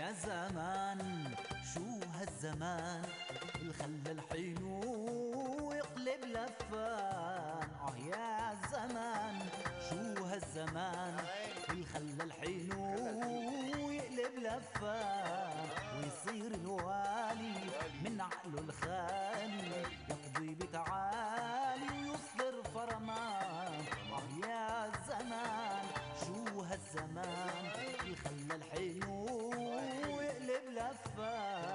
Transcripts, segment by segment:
يا زمان شو هالزمان اللي خلى الحلو يقلب لفان. يا زمان شو هالزمان اللي خلى الحلو يقلب لفان، ويصير الوالي من عقله الخالي يقضي بتعالي ويصدر فرمان. يا زمان شو هالزمان اللي خلى الحلو يقلب لفان.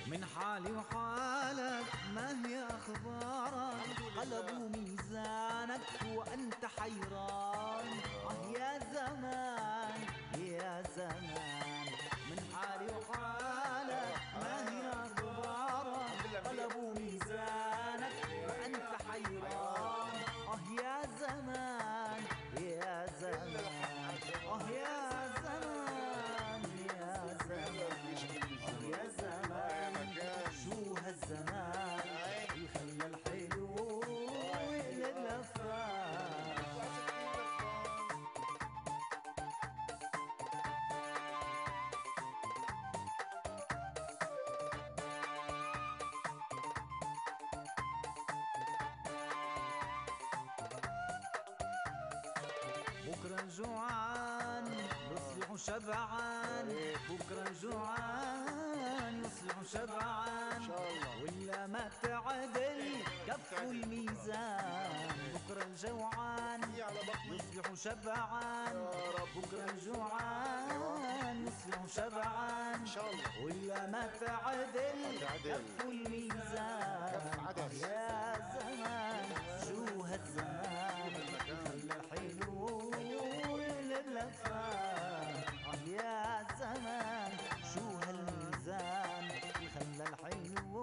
من حالي وحالك ما هي أخبارك، قلبوا ميزانك وأنت حيران. يا زمان يا زمان من حالي وحالك ما هي أخبارك، قلبوا ميزانك وأنت حيران. يا زمان يا زمان يا زمان يا زمان يا زمان شو هالزمان اللي خلى الحلو يقلب لفان. بكرة جوعان يصبح شبعان، بكرة جوعان يصبح شبعان، ولا ما تعدل كف الميزان. بكرة الجوعان يصبح شبعان، بكرة جوعان يصبح شبعان، ولا ما تعدل كف الميزان. يا زمان شو هالزمان خلى الحلو يقلب لفان. يا زمان شو هالميزان اللي خلى الحلو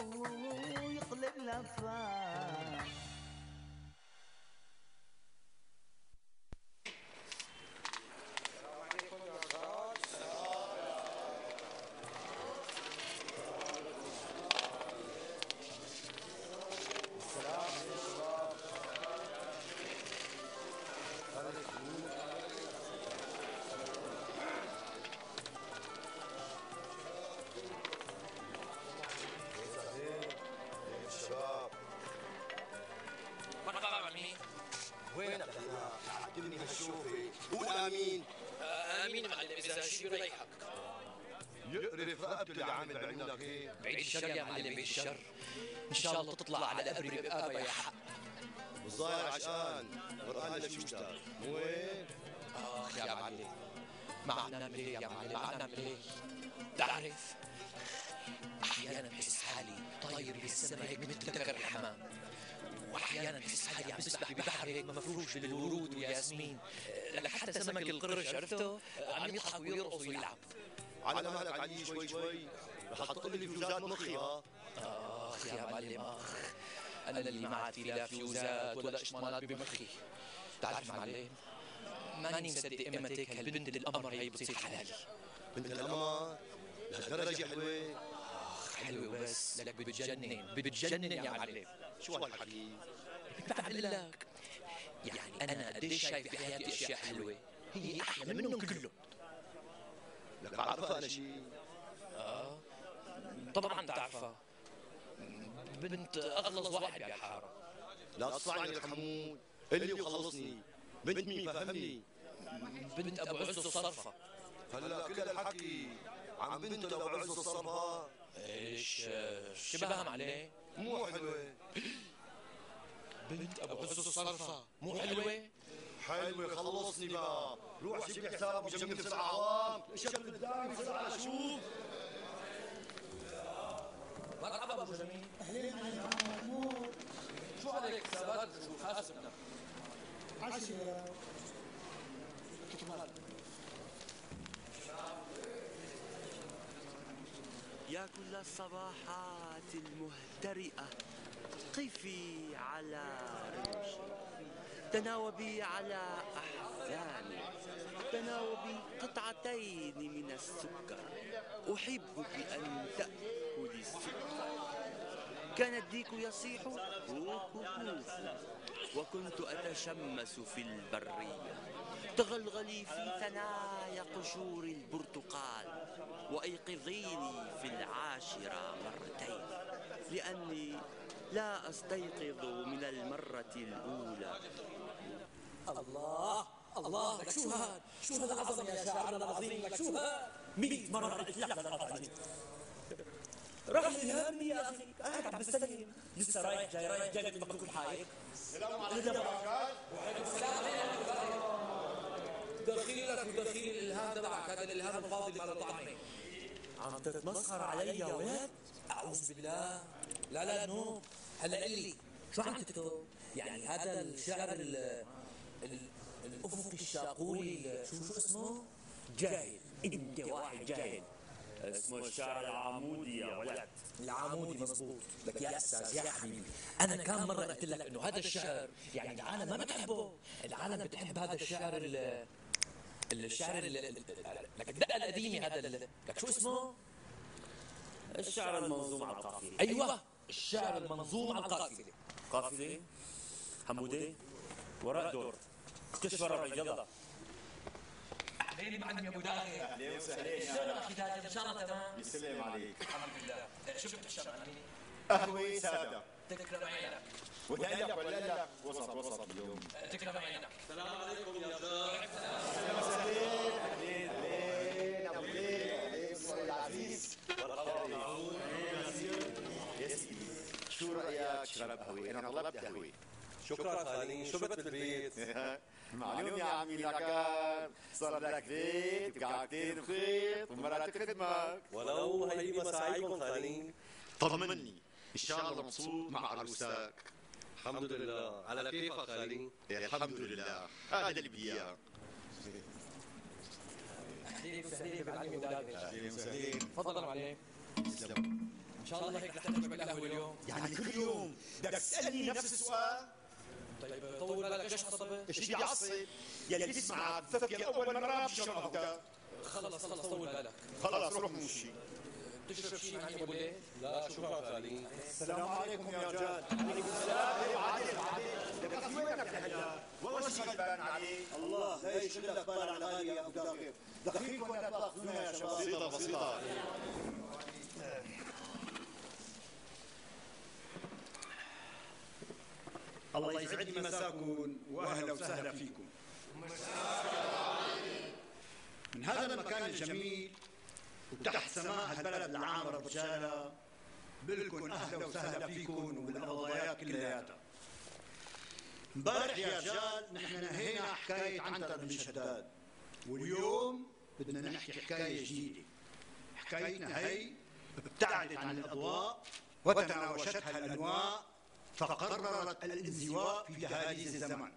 يقلب لفان. وينك يا عدمني هالشوفي؟ قول امين. امين معلم اذا شي بريحك. يقرف رقبتي اللي عامل بعيونك هيك. بعيد الشر يا معلم بعيد الشر. ان شاء الله تطلع على قبري بابا يا حق. والظاهر عشقان غرقان شو اشتغل مو وين؟ اخ يا معلم ما عم نعمل ايه يا معلم، ما عم نعمل ايه؟ بتعرف احيانا بحس حالي طاير بالسما هيك مثل ذكر الحمام، واحيانا بحس حالي عم بسبح ببحر هيك مفروش بالورود والياسمين. لك حتى سمك القرش عرفته عم يضحك ويرقص ويلعب. على مهلك علي شوي شوي رح تحط لي فيوزات مخي. اخ يا معلم اخ، انا اللي ما عاد في لا فيوزات ولا اشمانات بمخي. بتعرف معلم ماني مصدق امتى هالبنت القمر هي بتصير حلالي. بنت القمر لهالدرجة حلوة؟ اخ حلوة بس لك بتجنن بتجنن يا معلم. شو هالحكي؟ بعمل لك يعني انا قديش شايف بحياتي اشياء حلوة هي احلى منهم كلهم. لك بعرفها انا شيء؟ طبعا تعرفها، بنت اغلظ واحد بالحارة. لا تصعني الحمود قل لي وخلصني. بنت مين فهمني؟ بنت ابو عز الصرفة. هلا كل الحكي عن بنت ابو عز الصرفة؟ ايش شبهها معلم؟ مو حلوة. بنت ابو عز الصرفة مو حلوة؟ حلوة خلصني بقى. روح جيب لي حساب وجميل في العوام. شكل قدامي بسرعة شوف. مرحبا ابو جميل. اهلين محمود. شو عليك حسابات شو حاسبنا؟ 10 يا كل الصباحات المهترئة قفي على رمشي، تناوبي على أحزاني، وتناوب قطعتين من السكر. أحبك أن تأكلي السكر. كان الديك يصيح كوكوكوف، وكنت أتشمس في البرية. تغلغلي في ثنايا قشور البرتقال، وأيقظيني في 10 مرتين، لأني لا أستيقظ من المرة الأولى. الله الله، لك شو هاد؟ شو هذا العظم يا شاعرنا العظيم؟ لك شو هاد؟ 100 مرة قلت لك لا تقاطعني. راح الهام يا أخي، قاعد عم بستلم، لسه رايح جاي من مكتوب الحايق. السلام عليكم يا رجال. وعليكم السلام. دخيلك ودخيل الإلهام تبعك، هذا الإلهام الفاضي مال الطعمة. عم تتمسخر علي يا ولد؟ أعوذ بالله. لا نو. هلا قل لي شو عم تكتب؟ يعني هذا الشعر الأفقي الشاقولي شو اسمه؟ جاهل. أنت واحد جاهل. اسمه الشعر العمودي يا ولد. العمودي مزبوط. لك يا أستاذ يا حبيبي، أنا كم مرة قلت لك إنه هذا الشعر يعني العالم ما بتحبه. العالم بتحب هذا الشعر الشعر لك الدقة القديمة. هذا لك شو اسمه؟ الشعر المنظوم على القافية. أيوة، الشعر المنظوم على القافية. قافية حمودة وراء دور كشف الربع. يلا أهلين معلم يا أبو داغي. أهلين وسهلين. شلون أخي داغي؟ إن شاء الله تمام؟ يسلم عليك. الحمد لله. شو بتشرب عني؟ قهوة سادة. تكرم عينك. ولا لك وسط اليوم. تكرم عينك. السلام عليكم يا شباب. أهلين أبو ليل العزيز. يا سيدي، شو رأيك شرب قهوة؟ أنا طلبت قهوة. شكرا خالي، شربت بالبيت. معلوم يا عمي لكان صار لك بيت وقعدتين بخيط ومرات تخدمك. ولو هي مساعيكم خالي. طمني، إن شاء الله مبسوط مع عروسك. الحمد لله. على كيفك خالي؟ الحمد لله، هذا اللي بدي إياه. أهلين وسهلين بالعلم وداغي. أهلين وسهلين. تفضلوا عليه. تسلم. إن شاء الله هيك رح تشرب القهوة اليوم. يعني كل يوم بدك تسألني نفس السؤال؟ طيب طول بالك، ليش عصبت؟ ايش بدي اعصب؟ يلي بتسمع بفكر اول مرة بشربك. خلص طول بالك. خلص روح موشي. تشرب شيء معي ابو ليل؟ لا شكرا خالي. السلام عليكم يا رجال. عليكم السلام. عادل لك وينك هلا؟ والله شيء غلبان عليك. الله لا يشغلك بال على غالي يا ابو داغر. دخيلكم ولا تاخذونا يا شباب. بسيطة. الله يسعد لي مساكم واهلا وسهلا فيكم. من هذا المكان الجميل وتحت سماء هالبلد العامر برجالة بلكن اهلا وسهلا فيكم وبالقضايات كلياتها. امبارح يا رجال نحن نهينا حكاية عنتر بن شداد، واليوم بدنا نحكي حكاية جديدة. حكايتنا هي ابتعدت عن الأضواء وتناوشتها الأنواء، فقررت الانزواء في دهاليز الزمن.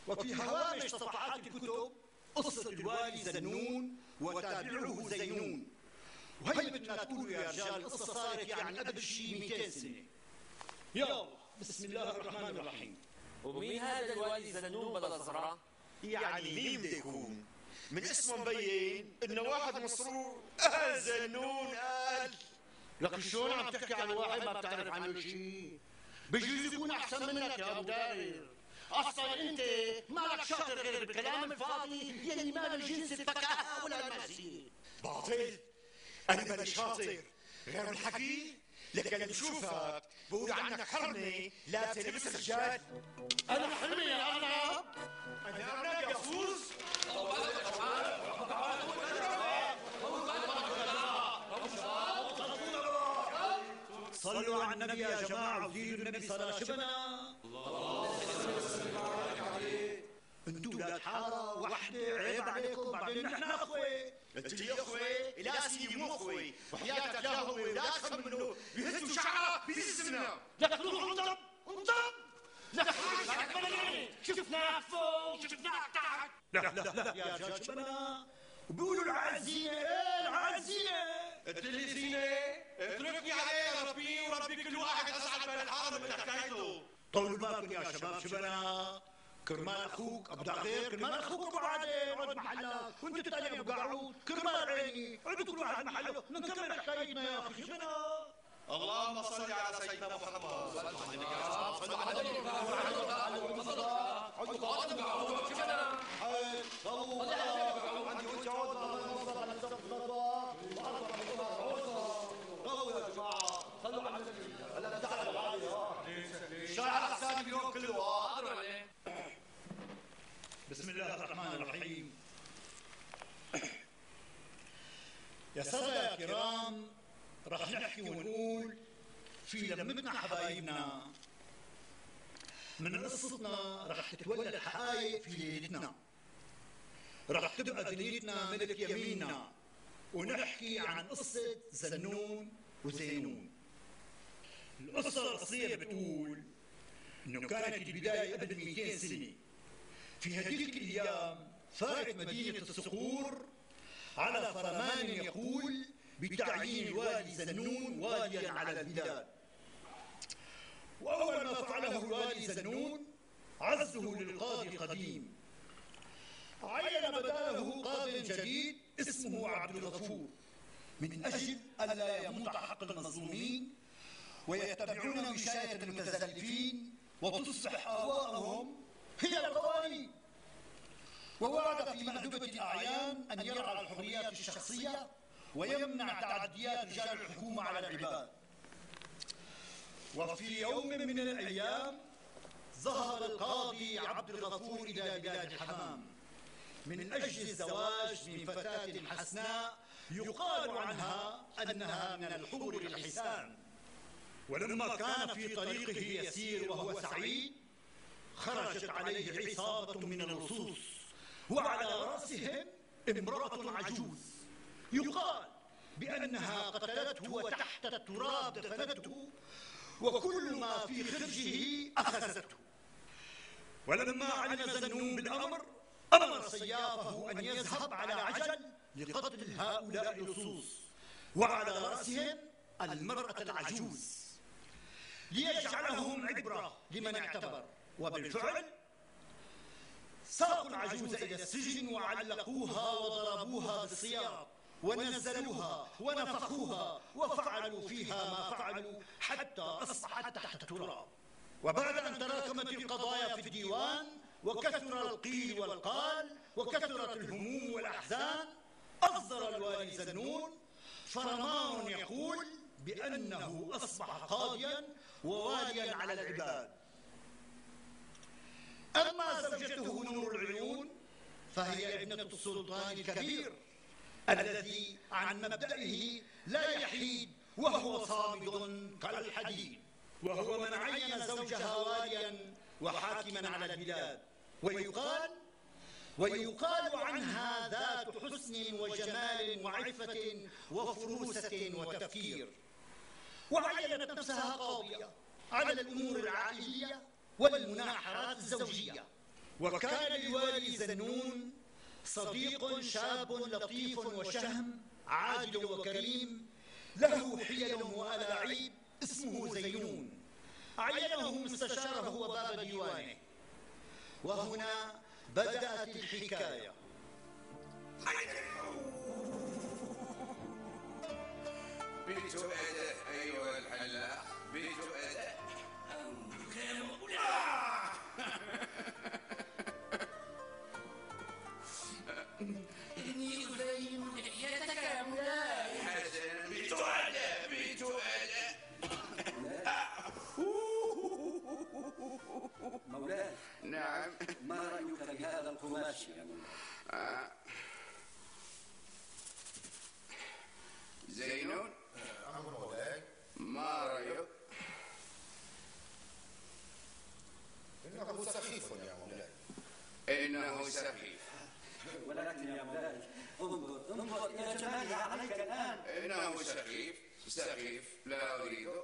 وفي هوامش صفحات الكتب قصة الوالي زنون وتابعه زينون. وهي بدنا تقولوا يا رجال القصة صارت يعني قبل شيء 200 سنة. يلا بسم الله الرحمن الرحيم. ومين هذا الوالي زنون بلا زهرة؟ يعني مين بده يكون؟ من اسمه مبين انه واحد مسرور. زنون قال. لكن شلون عم تحكي عن واحد ما بتعرف عنه شيء؟ بجوز يكون احسن منك يا ابو داير. اصلا انت مالك شاطر غير بالكلام الفاضي يلي ما له جنس الفكاهه ولا الماسيه. باطل. انا ماني شاطر غير الحكي. لك اللي بشوفك بقول عنك حرمه لا تلبس الرجال. انا حلمي يا ارنب. انا ارنب يا فوز. صلوا على النبي يا جماعه وزيدوا النبي صلاه شبنا. انتوا ولاد حاره وحده عيب عليكم. بعدين نحن اخوه. انت لي اخوي؟ لا سيدي مو اخوي. وحياتك لا هو ولا تخمنوا بيهزوا شعره بيزنا. لك روح انضب. لك شفناك فوق شفناك تحت. لا يا رجال شبنا. وبيقولوا العزينه. ايه العزينه؟ انت اللي زينه؟ اتركني عليه يا ربي، وربي كل واحد اسعد من الحرم من حكايته. طولوا بالكم يا شباب شبنا. كرمال اخوك ابو دغير، كرمال اخوك ابو عادل اقعد محلك، وانت الثاني ابو قعود، كرمال عيني اقعدوا كل واحد محله، نكمل حكايتنا يا اخي. شو بدنا؟ اللهم صل على سيدنا محمد. بسم الله الرحمن الرحيم. يا سادة يا كرام، رح نحكي ونقول في لمتنا حبايبنا، من قصتنا رح تتولد حقائق في ليلتنا، رح تبقى دنيتنا ملك يميننا، ونحكي عن قصة زنون وزينون. القصة الأصلية بتقول إنه كانت البداية قبل 200 سنة. في هذيك الأيام فارت مدينة الصقور على فرمان يقول بتعيين الوالي زنون واليا على البلاد. وأول ما فعله الوالي زنون عزه للقاضي القديم، عين بداله قاض جديد اسمه عبد الغفور، من أجل ألا يموت حق المظلومين ويتبعون وشاية المتزلفين وتصبح آواءهم هي القوانين. ووعد في مأدبة الأعيان أن يرعى الحريات الشخصية ويمنع تعديات رجال الحكومة على العباد. وفي يوم من الأيام ظهر القاضي عبد الغفور إلى بلاد الحمام من أجل الزواج من فتاة حسناء يقال عنها أنها من الحور الحسان. ولما كان في طريقه يسير وهو سعيد خرجت عليه عصابة من اللصوص، وعلى رأسهم امرأة عجوز يقال بأنها قتلته وتحت التراب دفنته، وكل ما في خرجه أخذته. ولما علم زنون بالأمر أمر سيافه أن يذهب على عجل لقتل هؤلاء اللصوص، وعلى رأسهم المرأة العجوز، ليجعلهم عبرة لمن اعتبر. وبالفعل ساقوا العجوز إلى السجن وعلقوها وضربوها بالسياط ونزلوها ونفخوها وفعلوا فيها ما فعلوا حتى أصبحت تحت التراب. وبعد أن تراكمت القضايا في الديوان وكثر القيل والقال وكثرت الهموم والأحزان، أصدر الوالي زنون فرمان يقول بأنه أصبح قاضيا وواليا على العباد. أما زوجته نور العيون فهي ابنة السلطان الكبير الذي عن مبدئه لا يحيد وهو صامد كالحديد، وهو من عين زوجها واليا وحاكما على البلاد. ويقال عنها ذات حسن وجمال وعفة وفروسة وتفكير. وعينت نفسها قاضية على الأمور العائلية والمناحرات الزوجية. وكان للوالي زنون صديق شاب لطيف وشهم عادل وكريم له حيل وألاعيب اسمه زينون، عينه مستشاره وباب ديوانه. وهنا بدأت الحكاية. بيت أداء أيها الحلاق، بيت أداء. إني أزين لحيتك يا مولاي. حسنا، بيت أداء، بيت أداء. مولاي. نعم. ما رأيك في هذا القماش يا مولاي؟ زينون. أمر مولاي. ما رأيك؟ إنه سخيف يا مولاي. إنه سخيف. ولكن يا مولاي انظر إلى جمالها عليك الآن. إنه سخيف، سخيف، لا أريده.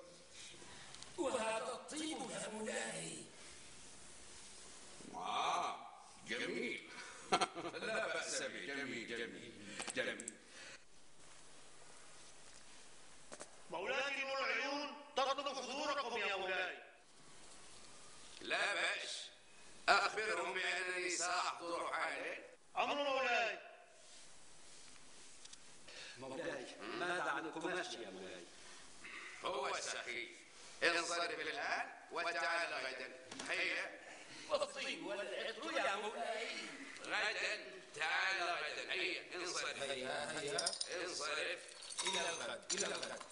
وهذا الطيب يا مولاي. جميل. لا بأس به، جميل جميل جميل. مولاي نور العيون تطلب حضوركم يا مولاي. لا بأس، أخبر أخبرهم بأنني سأحضر حالا. أمر مولاي. مولاي ماذا عن القماش يا مولاي؟ هو سخيف. انصرف الآن وتعال غدا. هيا. والطين والعطر يا مولاي. غدا تعال غدا. هيا انصرف. هيا انصرف. إلى الغد إلى الغد.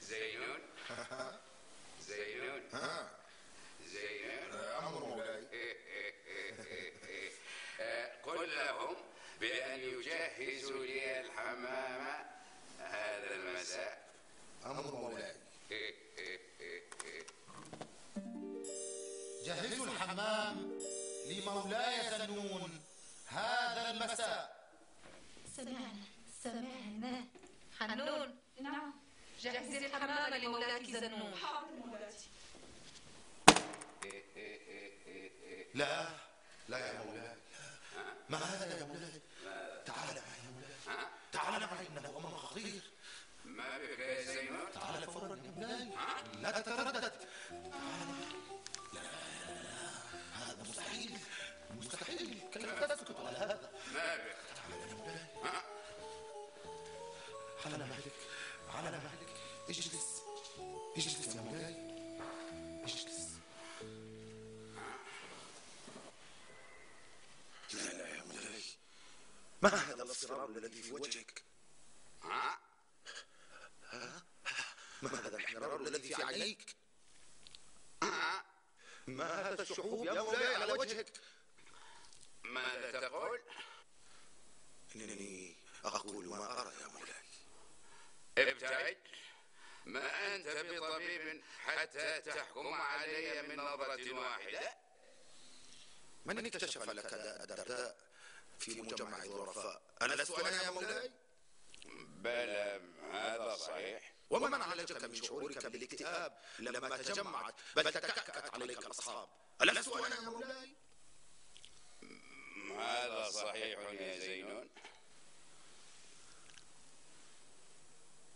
زينون. زينون. زينون. أمر مولاي. قل لهم بأن يجهزوا لي الحمام هذا المساء. أمر مولاي. جهزوا الحمام لمولاي زنون هذا المساء. سمعنا حنون. نعم. جهزي الحمام لمولاك زنون. حاضر مولاتي. لا يا مولاي، ما هذا يا مولاي؟ تعال معي يا مولاي، تعال معي، إنه أمر خطير. ما بك يا زينون؟ تعال فورا يا مولاي، لا تتردد. تعال معي. لا هذا مستحيل، كيف تسكت على هذا؟ ما بك؟ تعال يا مولاي، على مهلك، اجلس يا مولاي، اجلس. لا يا مولاي، ما هذا الاصرار الذي في وجهك؟ ما هذا الاحمرار الذي في عينيك؟ ما هذا الشحوب يا مولاي على وجهك؟ ماذا تقول؟ إنني أقول ما أرى يا مولاي. ابتعد. ما أنت بطبيب حتى تحكم علي من نظرة واحدة. من اكتشف لك داء الدرداء في مجمع الظرفاء؟ ألست أنا يا مولاي؟ بلى هذا صحيح. ومن عالجك من شعورك بالاكتئاب لما تجمعت بل تكأكأت عليك الأصحاب؟ ألست أنا يا مولاي؟ هذا صحيح يا زينون.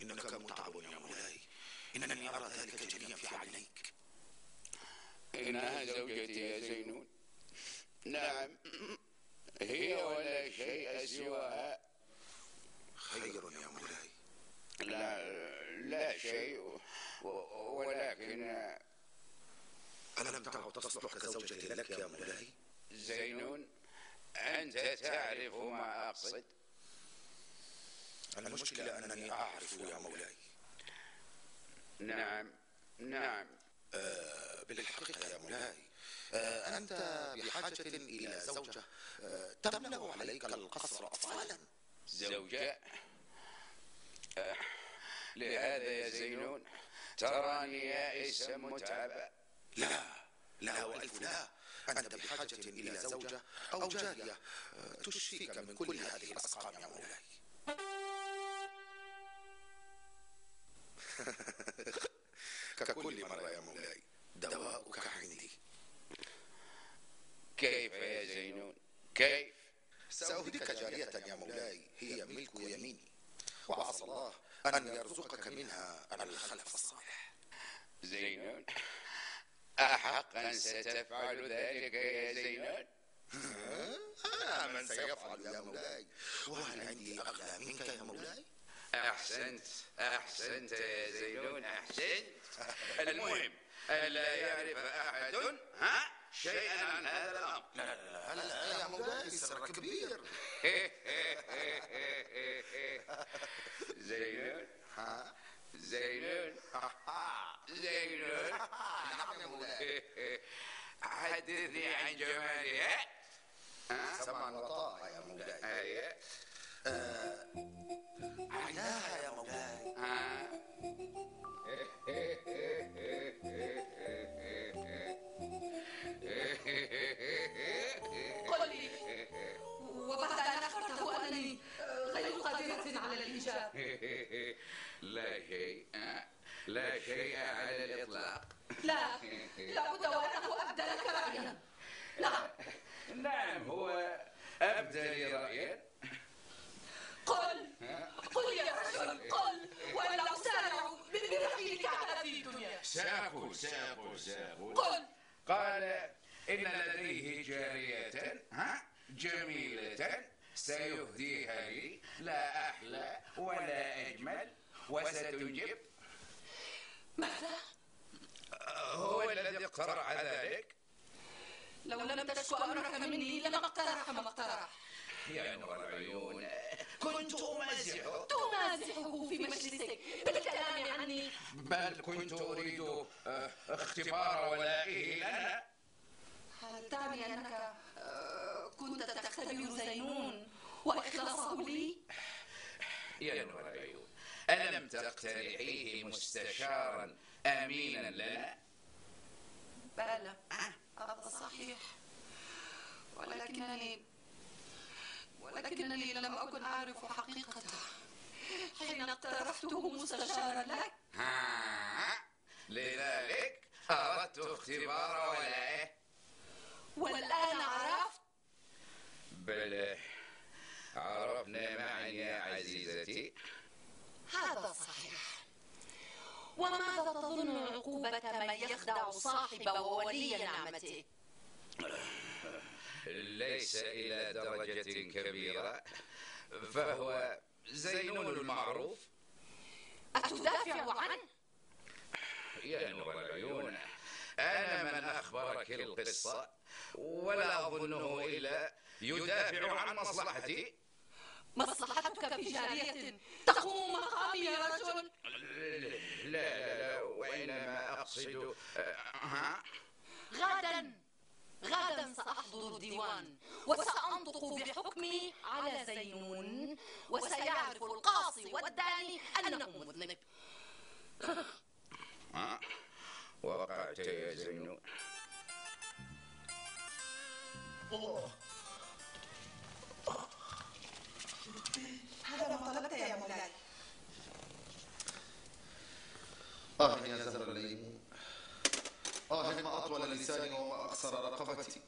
إنك متعب يا مولاي، إنني أرى ذلك جليا في عينيك. إنها زوجتي يا زينون. نعم، هي ولا شيء سواها. خير يا مولاي. لا شيء، ولكن ألم تعد تصلح كزوجة لك يا مولاي؟ زينون، أنت تعرف ما أقصد. المشكلة أنني أعرف يا مولاي. نعم. بالحقيقة يا مولاي، أنت بحاجة إلى زوجة تملأ عليك القصر أطفالا. زوجة؟ لهذا يا زينون تراني يائسا متعبا. لا وألف لا، أنت بحاجة إلى زوجة أو جارية تشفيك من كل هذه الأسقام يا مولاي. ككل مرة يا مولاي، دواؤك عندي. كيف يا زينون؟ كيف؟ سأهديك جارية يا مولاي، هي ملك يميني، وعسى الله أن يرزقك منها الخلف الصالح. زينون، أحقا ستفعل ذلك يا زينون؟ من سيفعل يا مولاي؟ وهل عندي أغلى منك يا مولاي؟ أحسنت يا زينون، أحسنت. المهم ألا يعرف أحد شيئا عن هذا الأمر. لا يا مولاي، سر كبير. زينون. نعم يا مولاي. حدثني عن جمالها. سمعا وطاعة يا مولاي. عيناها يا مولاي. قل لي، وبعد أن أخبرته أنني غير قادرة على الإنجاب. لا شيء على الإطلاق. لا بد وأنه أبدى لك رأيا. نعم، هو أبدى لي رأيا. قل يا رجل، قل وإلا أسارع سأقول قل. قال إن لديه جارية جميلة سيهديها لي، لا أحلى ولا أجمل، وستنجب. ماذا؟ هو الذي اقترح ذلك. لو لم تشكو أمرك مني لما اقترح ما اقترح. يا نور العيون، كنت أمازحه. تمازحه في مجلسك بالكلام عني؟ بل كنت أريد اختبار ولائه لنا. هل تعني أنك كنت تختبر زينون وإخلاصه لي؟ يا نور العيون، ألم تقترحيه مستشارا أمينا لنا؟ بلى، هذا صحيح، ولكنني لم أكن أعرف حقيقته حين اقترحته مستشارا لك. لذلك أردت اختبار ولائه. والآن عرفت؟ بل عرفنا معا يا عزيزتي. هذا صحيح. وماذا تظن عقوبة من يخدع صاحب وولي نعمته؟ ليس إلى درجة كبيرة، فهو زينون المعروف. أتدافع عنه؟ يا نور العيون، أنا من أخبرك القصة، ولا أظنه إلا يدافع عن مصلحتي. مصلحتك في جارية تقوم مقامي يا رجل؟ لا، وإنما أقصد غدا سأحضر الديوان وسأنطق بحكمي على زينون، وسيعرف القاصي والداني أنه مذنب. وقعت يا زينون. هذا ما طلبت يا مولاي. يا زهر الليمون، ما أطول لساني وما أقصر رقبتي.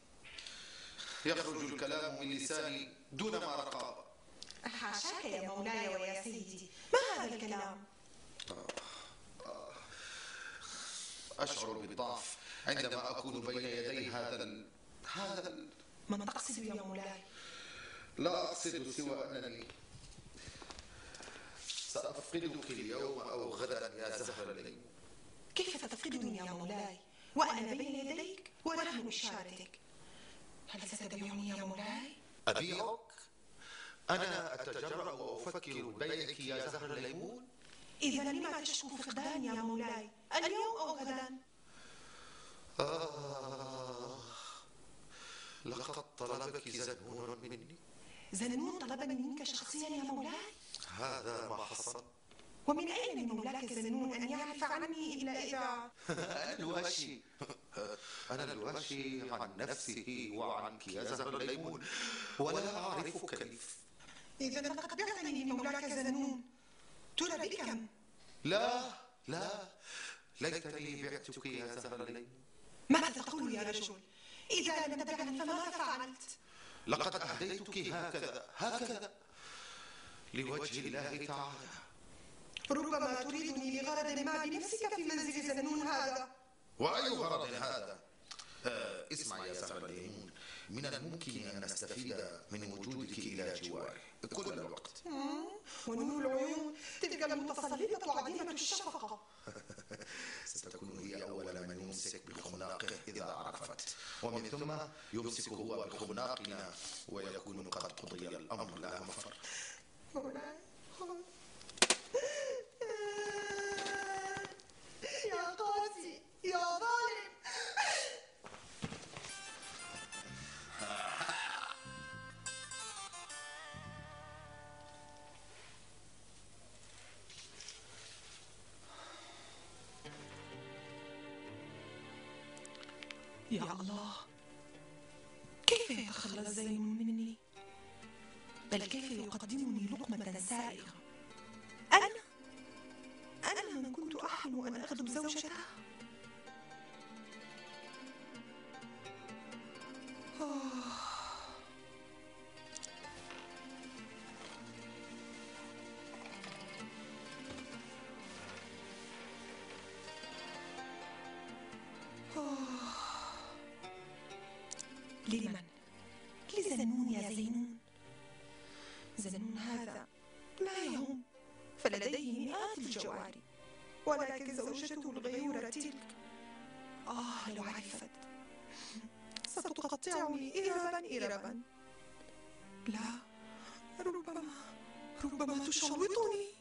يخرج الكلام من لساني دون ما رقابة. حاشاك يا مولاي ويا سيدي، ما هذا الكلام؟ أشعر بالضعف عندما أكون بين يدي هذا ما تقصد يا مولاي؟ لا أقصد سوى أنني سأفقدك اليوم أو غدا يا زهر الليمون. كيف تفقدني يا مولاي وأنا بين يديك ورهن إشارتك؟ هل ستبيعني يا مولاي؟ أبيعك؟ أنا أتجرأ وأفكر ببيعك يا زهر الليمون؟ إذا لما تشكو فقداني يا مولاي، اليوم أو غدا؟ لقد طلبك زنون مني. زنون طلبني منك شخصيا يا مولاي؟ هذا ما حصل. ومن أين من مولاك زنون أن يعرف عني إلا إذا الواشي. أنا الواشي عن نفسه وعنك يا زهر الليمون، ولا أعرف كيف. إذا لقد بعتني من مولاك زنون، ترى بكم؟ لا، ليتني بعتك يا زهر الليمون. ماذا تقول يا رجل؟ إذا لم تبعني فماذا فعلت؟ لقد أهديتك هكذا لوجه الله تعالى. ربما تريدني لغرض ما بنفسك في منزل زنون هذا. وأي غرض هذا؟ اسمع يا زهر الليمون، من الممكن أن أستفيد من وجودك إلى جواري كل الوقت. ونور العيون تلك المتسلطة عديمة الشفقة. ستكون هي أول من يمسك بخناقه إذا عرفت، ومن ثم يمسك هو بخناقنا، ويكون قد قضي الأمر لا مفر. يا قاسي يا ظالم. يا الله، كيف يتخلى زينون مني؟ بل كيف يقدمني لقمة سائغة؟ أنا من كنت أحلم أن أخدم زوجته. لمن؟ لزنون يا زينون. زنون هذا لا يهم، فلديه مئات الجواري، ولكن زوجته الغيورة تلك لو عرفت ستقطعني إربا إربا. لا، ربما تشوطني.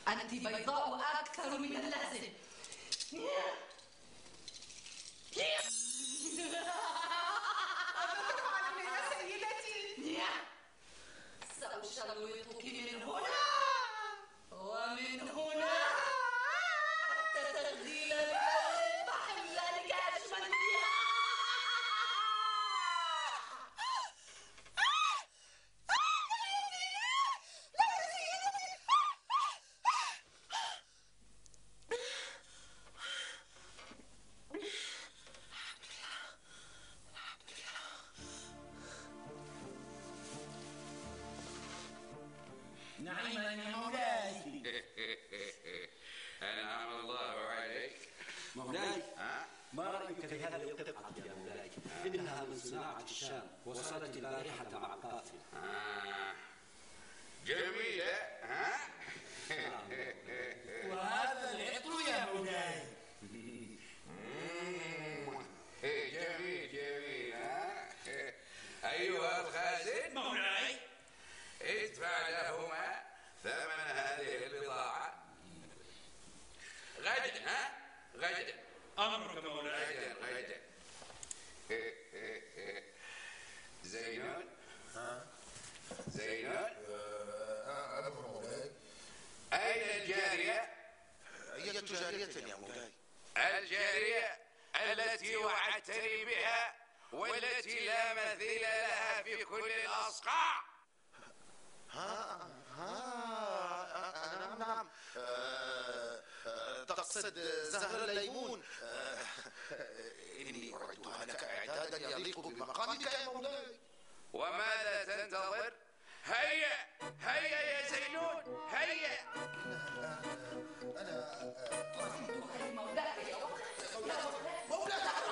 أنت بيضاء أكثر من اللازم. سأشوطك من هنا ومن هنا حتى تغزيل البحر ذلك أجمل. نعيما يا مولاي. أنعم الله عليك. مولاي، ما رأيك في هذه القطعة يا مولاي؟ إنها من صناعة الشام، وصلت البارحة مع القافلة. جميلة، ها؟ وهذا العطر يا مولاي. جميل جميل، ها؟ أيها الخازن. مولاي. ادفع لهما ثمن هذه البضاعة غدا، ها؟ غدا. أمرك مولاي. غدا. زينون. زينون. أمر مولاي. أين الجارية؟ أية جارية يا مولاي؟ الجارية التي وعدتني بها والتي لا مثيل لها في كل الأصقاع. نعم. تقصد زهر الليمون. إني أعدها لك إعدادا يليق بمقامك يا مولاي. وماذا تنتظر؟ هيا هيا يا زينون، هيا. مولاي يا زهر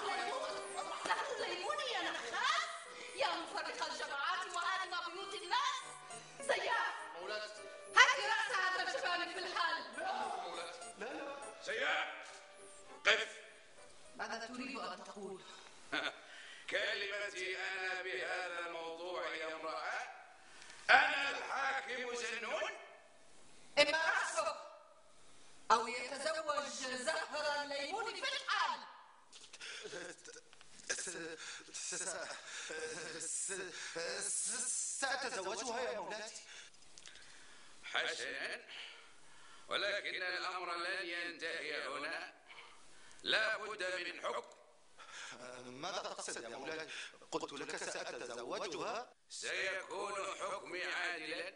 الليمون يا نخاس، يا مفرق الجماعات وآلم بيوت الناس. سياف، هات رأس هذا الجبان في الحال. لا. سياف، قف. ماذا تريد أن تقول؟ كلمتي أنا بهذا الموضوع يا امرأة أو يتزوج زهرة الليمون في الحال. سأتزوجها يا مولاتي. حسنا، ولكن الأمر لن ينتهي هنا، لا بد من حكم. ماذا تقصد يا مولاي؟ قلت لك سأتزوجها. سيكون حكمي عادلا.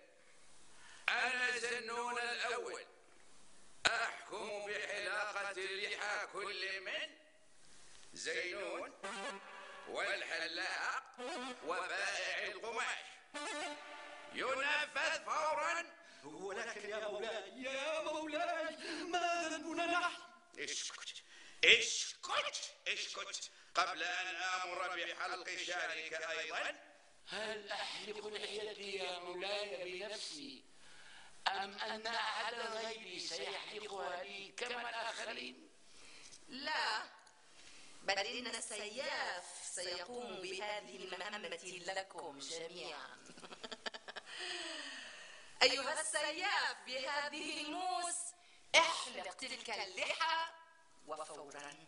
أنا زنون الأول، أحكم بحلاقة لحى كل من زينون والحلاق وبائع القماش. ينفذ فورا. ولكن يا مولاي، يا مولاي، ما ذنبنا نحن؟ اسكت اسكت اسكت قبل أن آمر بحلق شعرك أيضا. هل أحلق لحيتي يا مولاي بنفسي أم أن أحد غيري سيحلقها لي كما الآخرين؟ لا، بل إن السياف سيقوم بهذه المهمة لكم جميعا. أيها السياف بهذه الموس، احلق تلك اللحى وفورا.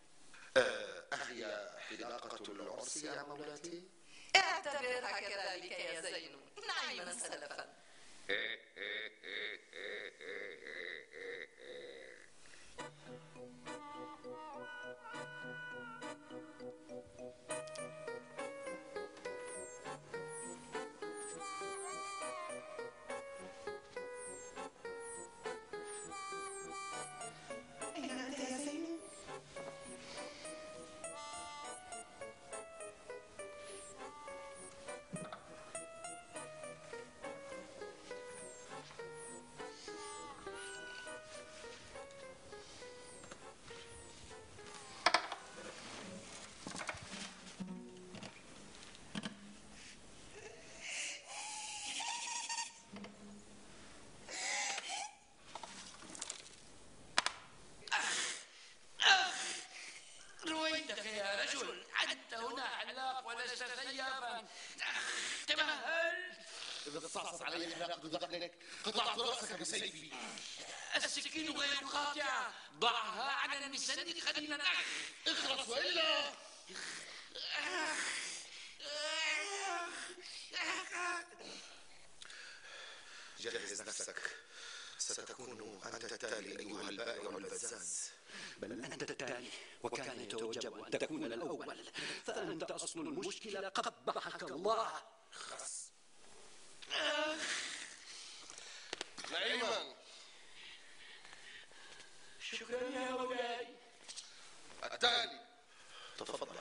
أهي حلاقة العرس يا مولاتي؟ اعتبرها كذلك يا زين، نعيما سلفا. أين أنت يا زين؟ رويدك يا رجل، أنت هنا حلاق ولست سيافا. تمهل. إذا تصعصع علي حلاقة ذقنك قطعت رأسك بسيفي. السكين غير قاطعة، ضعها على المسند خلينا اخلص وإلا. جهز نفسك، ستكون أنت التالي أيها البائع البزاز. بل أنت التالي، وكان يتوجب أن تكون الأول، فأنت أصل المشكلة. قبحك الله. نعيما. شكرا يا مولاي. التالي. تفضل.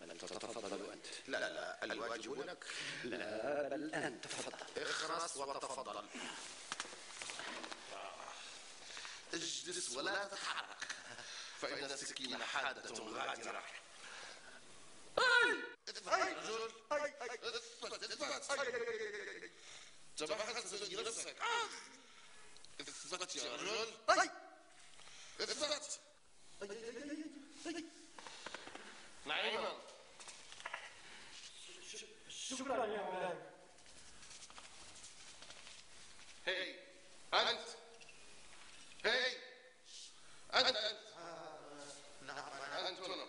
بل تتفضل أنت. لا الواجب لك. لا، بل أنت تفضل. اخرس وتفضل. اجلس ولا تتحرك، فإن السكين حادة غادرة. رجل، تبحث في نفسك. اثبت يا رجل، اثبت. نعيما. شكرا يا مولاي. هي أنت، هي أنت. نعم أنت هنا.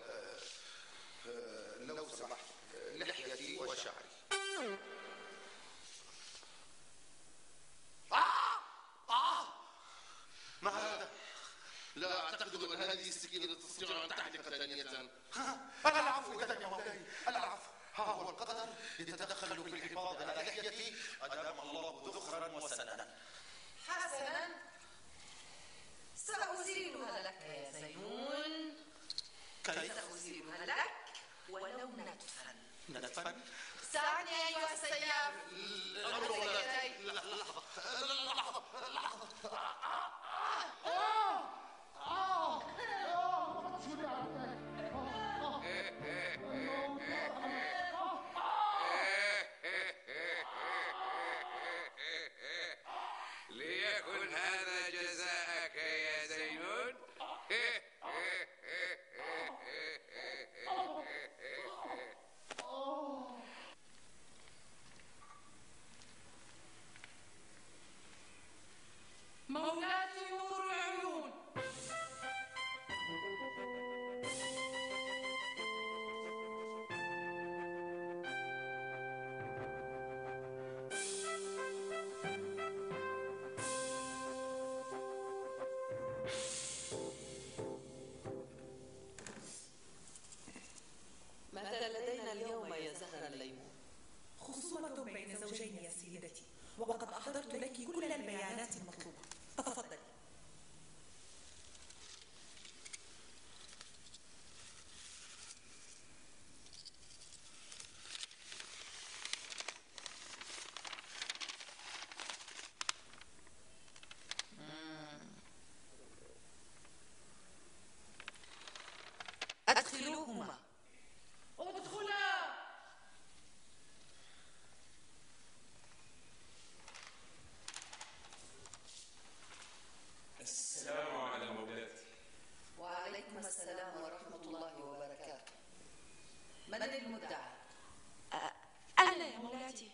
لو سمحت، لحيتي وشعري. ما هذا؟ لا أعتقد أن هذه السكينة تستطيع أن تحلق ثانية. العفو إذن يا مولاي، العفو. ها هو القدر يتدخل في الحفاظ على لحيتي أدام الله ذخرا وسننا. حسنا، سأزيلها لك يا زينون. سأزيلها لك ولو نتفا. نتفا؟ ساعدني أيها السياف. ليكن هذا جزاءك يا زينون. السلام على مولاتي. وعليكم السلام ورحمة الله وبركاته. من المدعى؟ أنا يا مولاتي،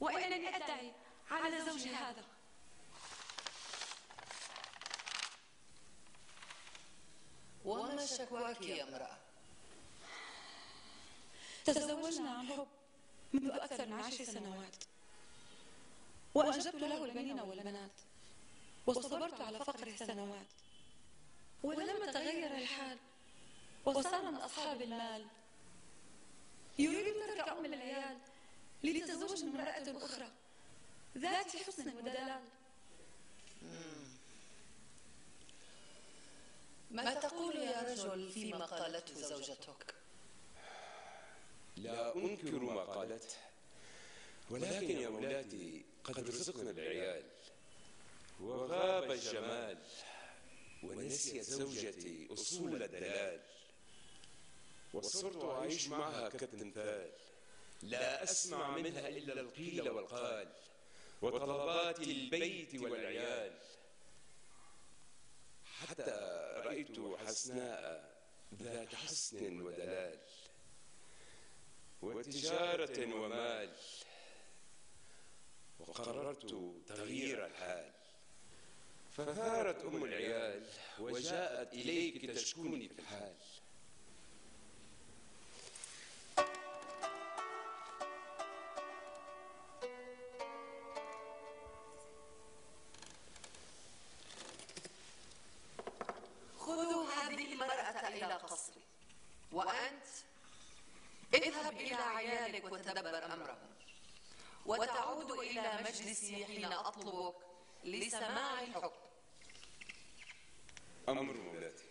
وإنني أدعي على زوجي هذا. وما شكواك يا امرأة؟ تزوجنا عن حب منذ أكثر من 10 سنوات، وأنجبت له البنين والبنات، وصبرت على فقره سنوات، ولما تغير الحال وصار من أصحاب المال يريد ترك أم العيال ليتزوج من امرأة أخرى ذات حسن ودلال. ما تقول يا رجل فيما قالته زوجتك؟ لا أنكر ما قالته، ولكن يا مولاتي قد رزقنا العيال وغاب الجمال، ونسيت زوجتي أصول الدلال، وصرت أعيش معها كالتمثال، لا أسمع منها إلا القيل والقال وطلبات البيت والعيال، حتى رأيت حسناء ذات حسن ودلال وتجارة ومال، وقررت تغيير الحال، فثارت أم العيال وجاءت إليك تشكوني في الحال. خذوا هذه المرأة إلى قصري، وأنت اذهب إلى عيالك وتدبر أمرهم، وتعود إلى مجلسي حين أطلبك لسماع الحكم. أمر مولاتي.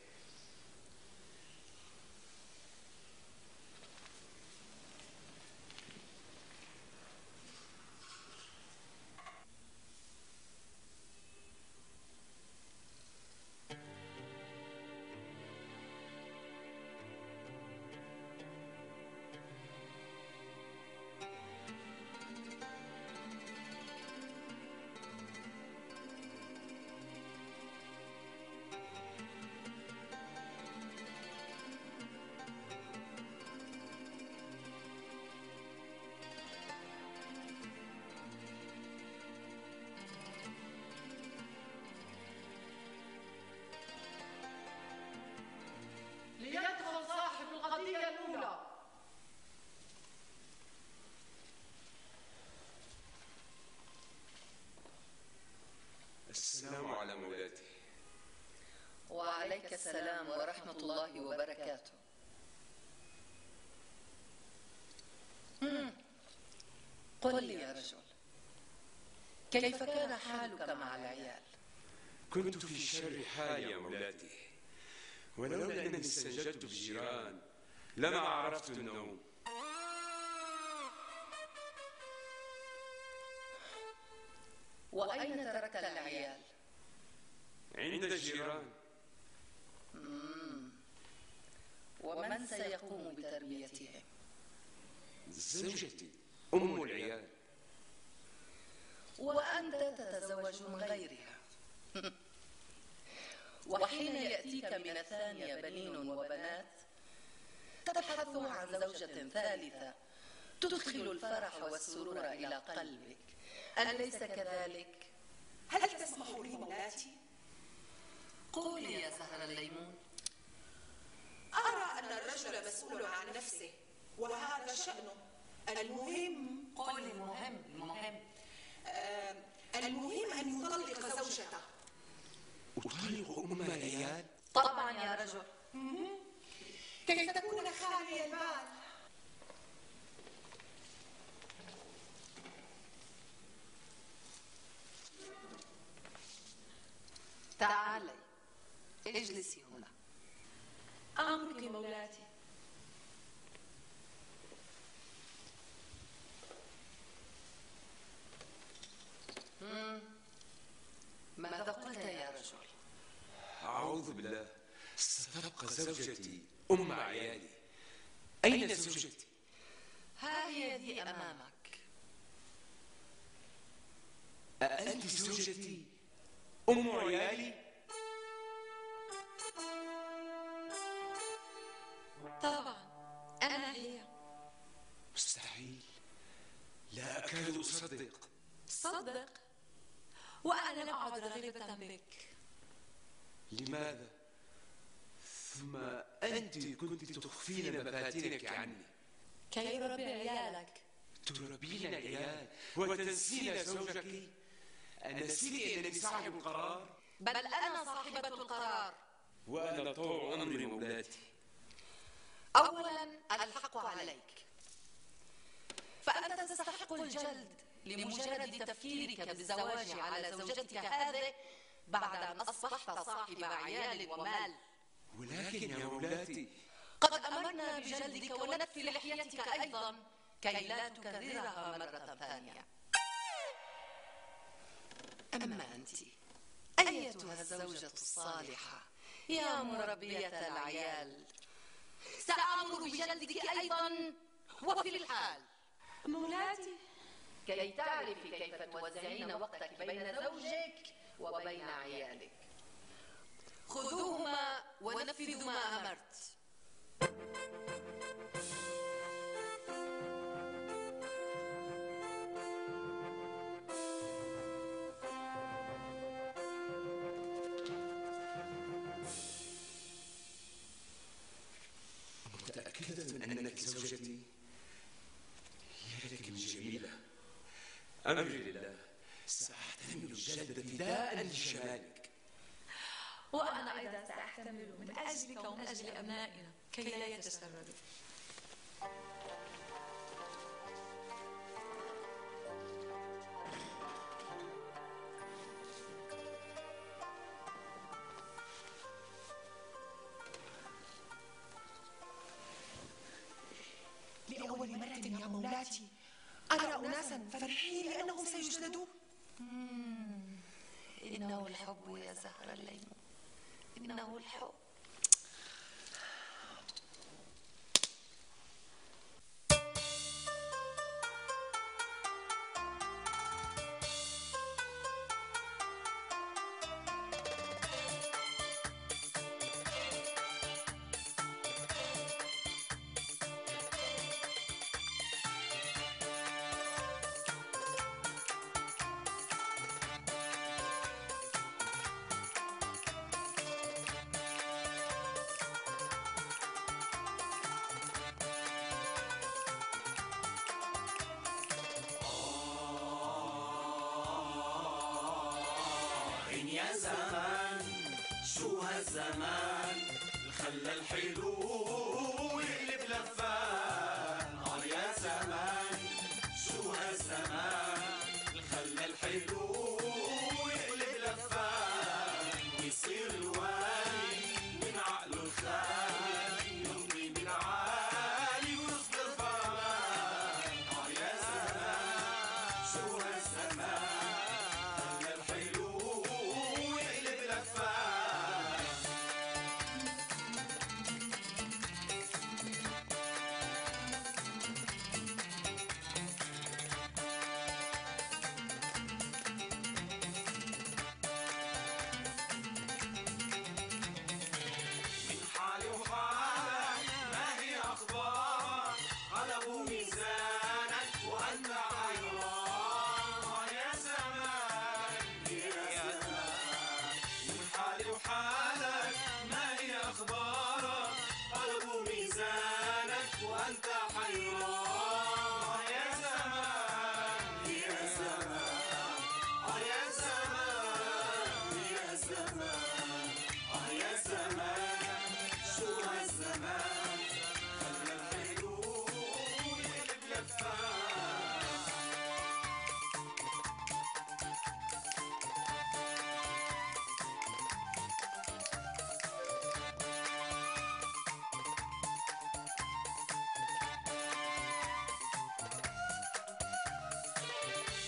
ليدخل صاحب القضية الأولى. السلام على مولاتي. وعليك السلام ورحمة الله وبركاته. قل لي يا رجل، كيف كان حالك مع العيال؟ كنت في شر حال يا مولاتي، ولولا أنني استنجدت بالجيران لما عرفت النوم. وأين تركت العيال؟ عند الجيران. ومن سيقوم بتربيتهم؟ زوجتي أم العيال. وأنت تتزوج من غيرها. وحين يأتيك من الثانية بنين وبنات تبحث عن زوجة ثالثة تدخل الفرح والسرور إلى قلبك، أليس كذلك؟ هل تسمح لي مولاتي؟ قولي يا زهر الليمون. أرى أن الرجل مسؤول عن نفسه وهذا شأنه. المهم قولي المهم. المهم أن يطلق زوجته. أطلق أم العيال؟ طبعا يا رجل. كي تكون خالي البال. تعالي اجلسي هنا. أمرك مولاتي. ماذا قلت يا رجل؟ أعوذ بالله، ستبقى زوجتي أم عيالي. أين زوجتي؟ ها هي ذي أمامك. أأنت زوجتي أم عيالي؟ تصدق. صدق، وأنا لم أعد رغيبة بك. لماذا؟ ثم أنت كنت تخفين مفاتنك عني. كي أربي عيالك. تربين العيال وتنسين زوجك؟ أنسيت أنني صاحب القرار؟ بل أنا صاحبة القرار. وأنا طوع أمر مولاتي. أولا الحق عليك، فأنت تستحق الجلد لمجرد تفكيرك بالزواج على زوجتك هذه بعد أن أصبحت صاحب عيال ومال. ولكن يا مولاتي، قد أمرنا بجلدك ونتف لحيتك أيضا كي لا تكررها مرة ثانية. أما أنت أيتها الزوجة الصالحة يا مربية العيال، سأمر بجلدك أيضا وفي الحال. مولاتي، كي تعرفي كيف توزعين وقتك بين زوجك وبين عيالك. خذوهما ونفذوا ما أمرت. متأكدة أنك زوجتي؟ يا لك من جميلة. أمري لله، سأحتمل الجلد فداء لشمالك. وأنا أيضا سأحتمل من أجلك ومن أجل أبنائنا كي لا يتسربوا. لأول مرة يا مولاتي أرى أناسا فرحين لأنهم سيجلدون. إنه الحب يا زهر الليمون، إنه الحب. يا زمان شو هالزمان خلى الحلو يقلب لفان. يا زمان شو هالزمان خلى الحلو يقلب لفان، ويصير الوالي من عقله الخالي يمضي من عالي ويصدر فرمان. يا زمان شو هالزمان خلى الحلو يقلب لفان. من حالي وحالك ما هي أخبارك، قلبوا ميزانك وأنت حيران. يا زمان يا زمان من حالي وحالك ما هي أخبارك، قلبوا ميزانك وأنت حيران. يا زمان يا زمان يا زمان يا زمان يا زمان شو هالزمان خلى الحلو يقلب لفان.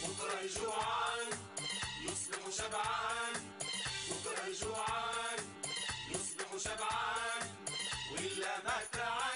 بكرة الجوعان يصبح شبعان، بكرة الجوعان يصبح شبعان، وإلا ما تعان.